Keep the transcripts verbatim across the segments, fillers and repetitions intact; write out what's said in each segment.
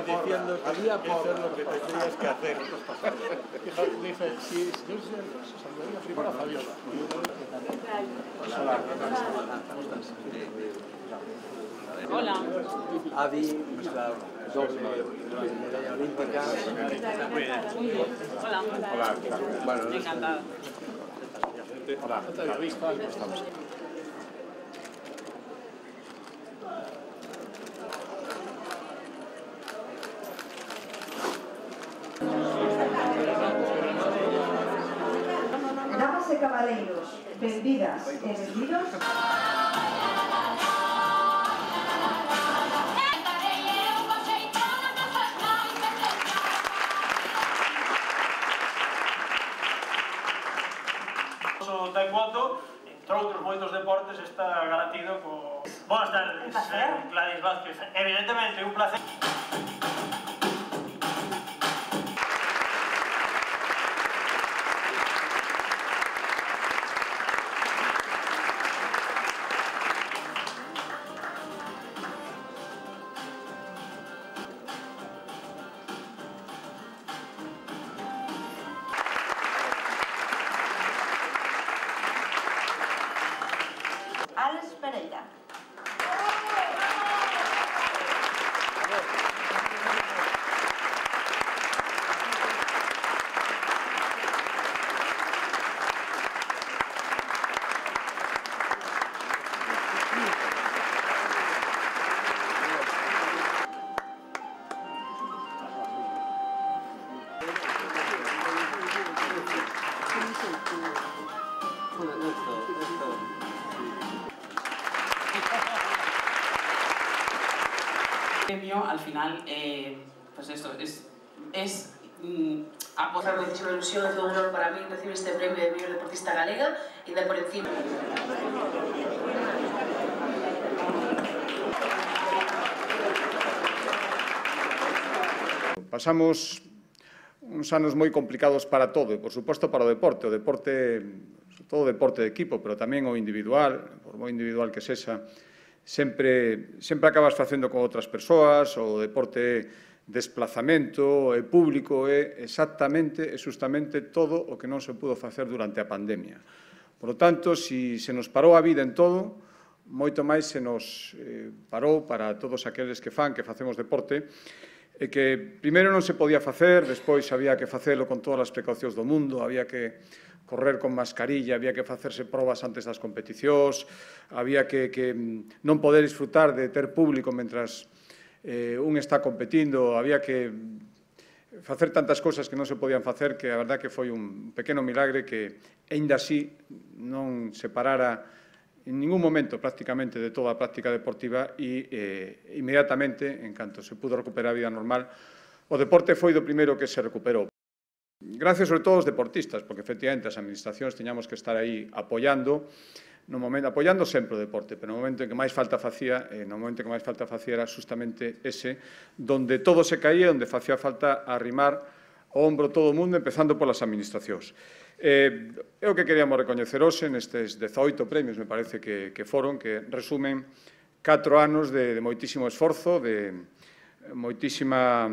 diciendo que Había eso es lo que tendrías que hacer. Dice, si yo se saludaría primero a Fabiola. Hola. Adi, nuestra doble medalla olímpica. Muy bien. Hola. Hola. Bueno, Encantada. hola. No te había visto, algo estamos. Damas e cabaleiros, benvidas e benvidos. O taekwondo, entre outros moitos deportes, está garantido co... Boas tardes, eh, Gladys Vázquez. Evidentemente, un placer. Alex Pereira. El premio, al final, eh, pues eso, es, es mm, apostar. Es una ilusión, es un honor para mí recibir este premio de Mellor Deportista Galega y de por encima. Pasamos uns anos moi complicados para todo, e, por suposto, para o deporte. O deporte, sobre todo o deporte de equipo, pero tamén o individual, por moi individual que sexa, sempre, sempre acabas facendo con outras persoas, o deporte desplazamento, é público, é exactamente e justamente todo o que non se pudo facer durante a pandemia. Por lo tanto, si se nos parou a vida en todo, moito máis se nos eh, parou para todos aqueles que fan, que facemos deporte, e que primeiro non se podía facer, despois había que facelo con todas as precaucións do mundo, había que correr con mascarilla, había que facerse probas antes das competicións, había que, que non poder disfrutar de ter público mentras eh, un está competindo, había que facer tantas cousas que non se podían facer que a verdad que foi un pequeno milagre que, aínda así, non se parara en ningún momento prácticamente de toda a práctica deportiva e eh, inmediatamente, en canto se pudo recuperar a vida normal, o deporte foi do primeiro que se recuperou. Gracias sobre todo aos deportistas, porque efectivamente as administracións teñamos que estar aí apoiando, no momento, apoiando sempre o deporte, pero no momento en que máis falta facía, eh, no momento en que máis falta facía era justamente ese, donde todo se caía, onde facía falta arrimar o ombro todo o mundo, empezando polas administracións. Eh, é o que queríamos recoñecer hoxe nestes dezaoito premios, me parece que, que foron, que resumen catro anos de, de moitísimo esforzo, de moitísima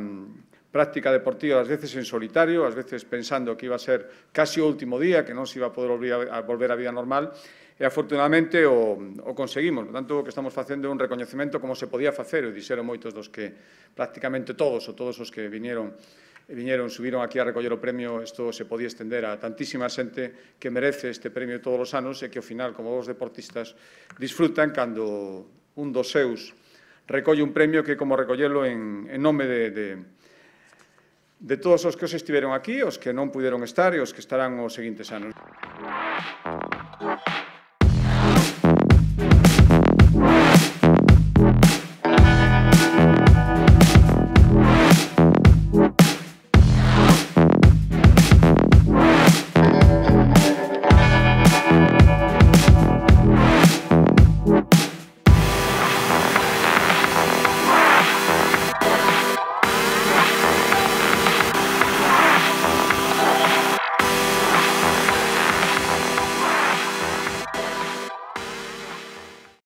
práctica deportiva, ás veces en solitario, ás veces pensando que iba a ser casi o último día, que non se iba a poder a volver á vida normal, e afortunadamente o, o conseguimos. Por tanto, o que estamos facendo é un recoñecemento como se podía facer, e dixeron moitos dos que, prácticamente todos, ou todos os que vinieron, viñeron, subiron aquí a recoller o premio, isto se podía estender a tantísima xente que merece este premio todos os anos e que, ao final, como os deportistas, disfrutan cando un dos seus recolle un premio que é como recollelo en, en nome de, de, de todos os que os estiveron aquí, os que non puderon estar e os que estarán os seguintes anos.